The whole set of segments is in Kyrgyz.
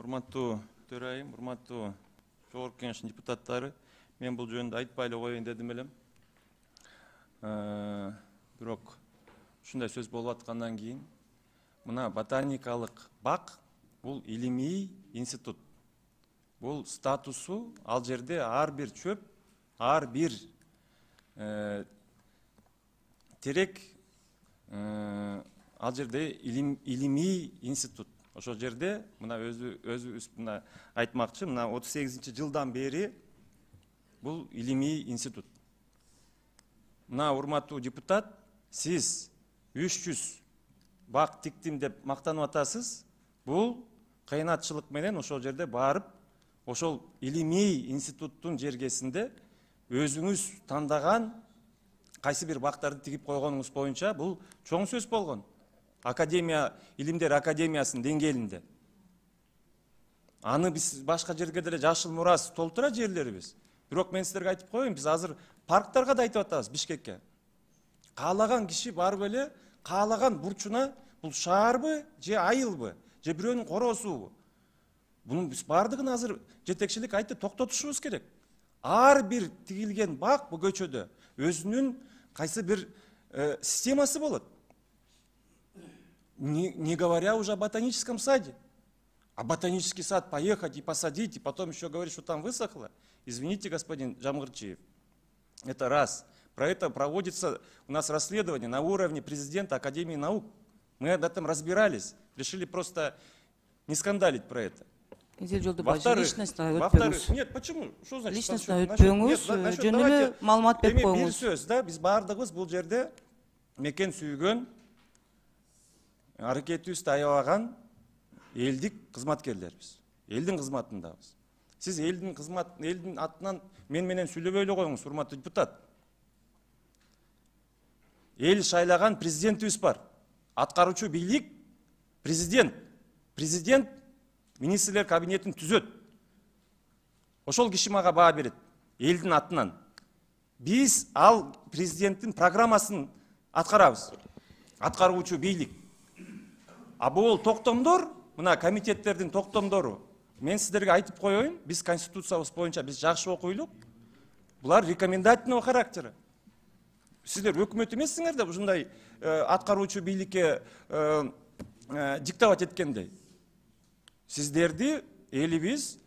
Урматтуу төрайым, урматтуу Жогорку Кеңештин депутаттары, мен бул жөнүндө айтпай эле коеюн дедим элем. Бирок ушундай сөз болуп аткандан кийин, мына ботаникалык бак бул илимий институт. Бул статусу ал жерде ар бир чөп, ар бир терек ал жерде илимий институт. Ошол жерде мына өзүбүз мына айтмакчы, мына 38-жылдан бери бул илимий институт. Мына урматтуу депутат, сиз 300 бак тиктим деп мактанып атасыз. Бул кыйынатчылык менен ошол жерде барып, ошол илимий институттун жергесинде өзүңүз тандаган кайсы бир бактарды тигип койгонуңуз боюнча бул чоң сөз болгон. Академия, Илимдер Академиясынын деңгээлинде. Аны биз башка жерге деле жашыл мурас толтура жерлерибиз. Бирок мен силерге айтып коеюн, биз азыр парктарга да айтып атабыз Бишкекке. Каалаган киши барып эле, каалаган бурчуна бул шаарбы, же айылбы, же бирөөнүн короосубу? Бунун биз бардыгын азыр жетекчилик айтты, токтотушубуз керек. Ар бир тигилген бак бу көчөдө өзүнүн кайсы бир системасы болот. Не говоря уже о ботаническом саде. А ботанический сад поехать и посадить, и потом еще говорить, что там высохло. Извините, господин Жамгырчиев. Это раз. Про это проводится у нас расследование на уровне президента Академии наук. Мы об этом разбирались. Решили просто не скандалить про это. Во-вторых, нет, почему? Что значит? Личностно өтпөңүз, жөн эле маалымат берип коюңуз. Бир сөз да, биз бардыгыбыз бул жерде мекен сүйгөн, аракетибизди аябаган элдик кызматкерлербиз. Элдин кызматындабыз. Сиз элдин атынан мен менен сүйлөбөй эле коюңуз, урматтуу депутат. Эл шайлаган президентибиз бар. Аткаруучу бийлик президент. Президент министрлер кабинетин түзөт. Ошол киши мага баа берет элдин атынан. Биз ал президенттин программасын аткарабыз. Аткаруучу бийлик. А бул токтомдор, мына комитеттердин токтомдору. Мен сиздерге айтып коеюн, биз конституциябыз боюнча биз жакшы окуйлук. Булар рекомендательного характера. Сиздер өкмөт эмессиңер да ушундай аткаруучу бийликке диктовать эткендей. Сиздерди элибиз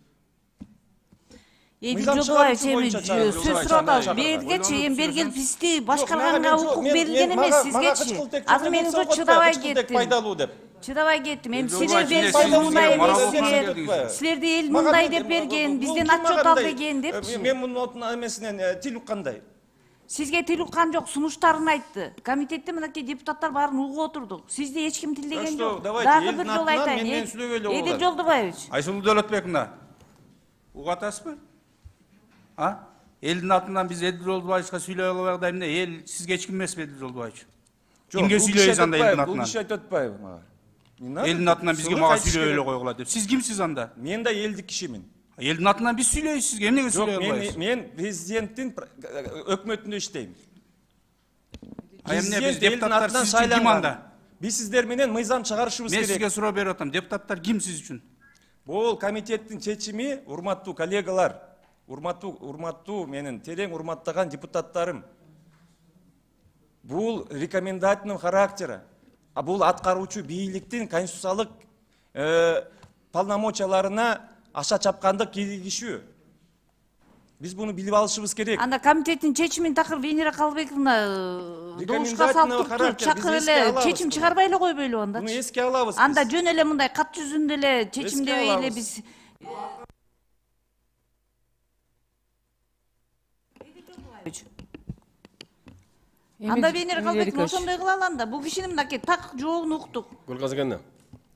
Эдил Жолдубаевич, сөз сурап атабыз. Бергечи, бергел бизди башкарганга укук берилген эмес сизгечи. Азыр мен уже чыдабай кеттим. Чыдабай кеттим. Эми силер берсиңер мындай эмес. Силерди эл мындай деп берген, бизден отчет ал деген депчи. Мен мунун эмесинен тил уккандай. Сизге тил уккан жок, сунуштарын айтты. Комитетте мынакей депутаттар баарын угуп отурдук. Сизди эч ким тилдеген жок. Дагы бир жолу айтайын. Эдил Жолдубаевич. Айсулуу Дөөлөтбековна, угуп атасызбы? Элдин атынан биз Эдил Жолдубаевичка сүйлөй албайбыз да эмне? Эл сизге эч ким эмеспи Эдил Жолдубаевич? Кимге сүйлөйбүз анда элдин атынан? Бул киши айтып атпайбы мага? Элдин атынан бизге мага сүйлөй эле койгула деп. Сиз кимсиз анда? Мен да элдик кишимин. Элдин атынан биз сүйлөйбүз сизге, эмнеге сүйлөй албайбыз? Мен президенттин өкмөтүндө иштейм. Эмне биз депутаттар сиз үчүн ким анда? Биз сиздер менен мыйзам чыгарышыбыз керек. Мен сизге суроо берип атам, депутаттар ким сиз үчүн? Бул комитеттин чечими, урматтуу коллегалар, урматтуу менин терең урматтаган депутаттарым. Бул рекомендательный характера. А бул аткаруучу бийликтин конституциялык полномочияларына аша чапкандык киргизишүү. Биз буну билип алышыбыз керек. Анда комитеттин чечимин такыр Венера Калыбековна добушка салып чакыр эле чечим чыгарбай эле койбойлу анда. Муну эске алабыз. Анда жөн эле мындай кат жүзүндө эле чечимдебей эле биз Анда Венера Калыбековна ошондой кыла алам да. Бул кишинин мынакей так жоогун уктук. Гүлгазыгана,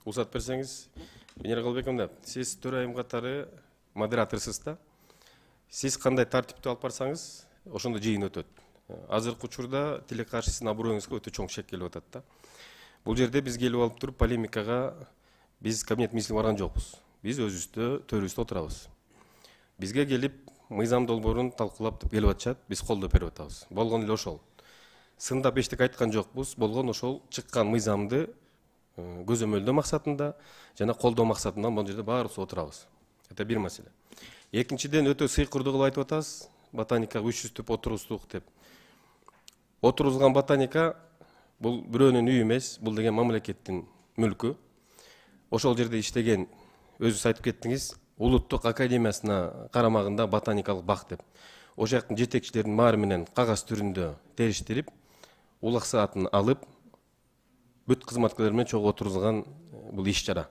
уруксат берсеңиз, Венера Калыбековна, сиз төрайым катары модераторсуз да. Сиз кандай тартипти алып барсаңыз, ошондо жыйын өтөт. Азыркы учурда тиле каршысына аброюңузга өтө чоң шек келип атат да. Бул жерде биз келип алып туруп полемикага биз кабинет министрине барган жокпуз. Биз өзүбүздө төрүбүздө отурабыз. Бизге келип мыйзам долбоорун талкуулап деп келип атышат, биз колдоп берип атабыз. Болгон эле ошол. Сындап эчтеке айткан жокпуз, болгон ошол чыккан мыйзамды көзөмөлдөө максатында жана колдоо максатында бул жерде баарыбыз отурабыз. Это бир маселе. Экинчиден өтө сыйкырдуу кылып айтып атасыз, ботаникага 300 түп отургуздук деп. Отургузган ботаника бул бирөөнүн үйү эмес, бул деген мамлекеттин мүлкү. Ошол жерде иштеген, өзүңүз айтып кеттиңиз, улуттук академиясына карамагында ботаникалык бак деп. Ошол жактын жетекчилеринин баары менен кагаз түрүндө териштирип, улак саатын алып, бүт кызматкерлер менен чогуу отургузган бул иш чара.